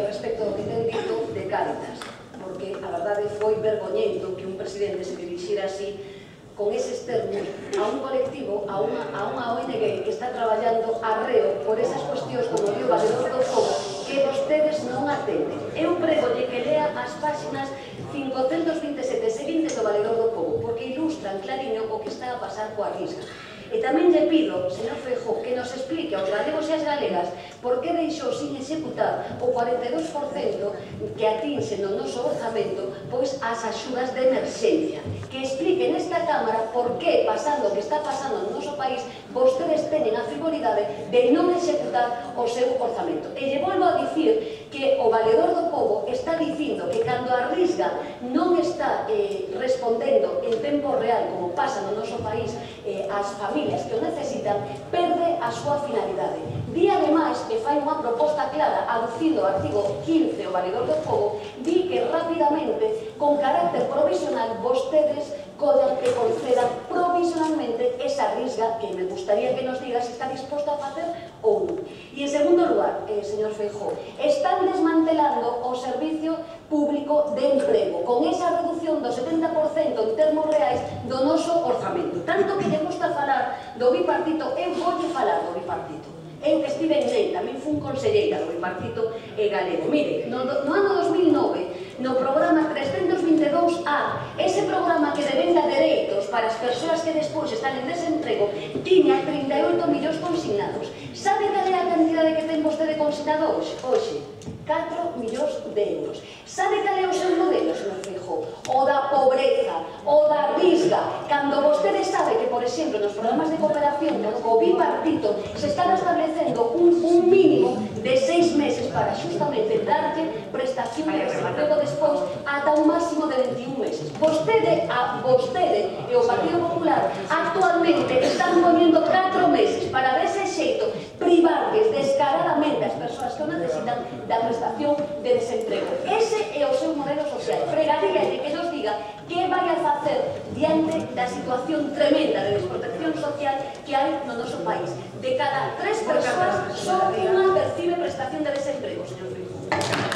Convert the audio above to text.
respecto ao que ten dito de Cáritas, porque a verdade foi vergoñento que un presidente se dirixiera así con eses termos a un colectivo, a unha ONG que está traballando arreo por esas cuestións como o Valedor do Pobo que vostedes non atenden. Eu pregolle que lea as páxinas 527 seguintes do Valedor do Pobo, porque ilustran clariño o que está a pasar coa Risga. E tamén lle pido, señor Feijóo, que nos explique aos galegos e as galegas por que deixou sin executar o 42% que atinxe no noso orzamento pois as axudas de emerxencia. Que explique nesta Cámara por que, pasando o que está pasando no noso país, vostedes teñen a frivolidade de non executar o seu orzamento. E lle volvo a dicir que o Valedor do Pobo está dicindo que cando a Risga non está respondendo en tempo real, como pasa no noso país, as familias que o necesitan, perde a súa finalidade. Di, ademais, que fai unha proposta clara, aducindo o artigo 15 o Valedor do Pobo, di que rapidamente, con carácter provisional, vostedes collan e concedan provisionalmente esa Risga que me gustaría que nos diga se está disposto a facer ou non. E en segundo lugar, señor Feijóo, están desmantelando o servicio público de emprego con esa reducción do 70% en termos reais do noso orzamento. Tanto que lle gusta falar do bipartito, eu voulle falar do bipartito. Eu que estive en NEI, tamén fun conselleira do bipartito galego. Mire, no ano 2009, no programa 322A, ese programa que devenda dereitos para as persoas que despois están en desemprego, tiña 38 millóns consignados. Sabe cal é a cantidade que ten vostede consignado hoxe? 4 millóns de euros. Sabe cal é o seu modelo, señor Feijóo? O da pobreza, o da Risga. Cando vostede sabe que, por exemplo, nos programas de cooperación co bipartito se están establecendo un mínimo de 6 meses para justamente darlle prestación de desemprego despois ata un máximo de 21 meses. Vostede e o Partido Popular actualmente están poniendo 4 meses para dese xeito privarles descaradamente as persoas que o necesitan da prestación de desemprego. Ese é o seu modelo social. Pregaríalle que nos diga que vai a facer diante da situación tremenda de desprotección social que hai no noso país. De cada 3 persoas, só unha percibe prestación de desemprego, señor Feijóo.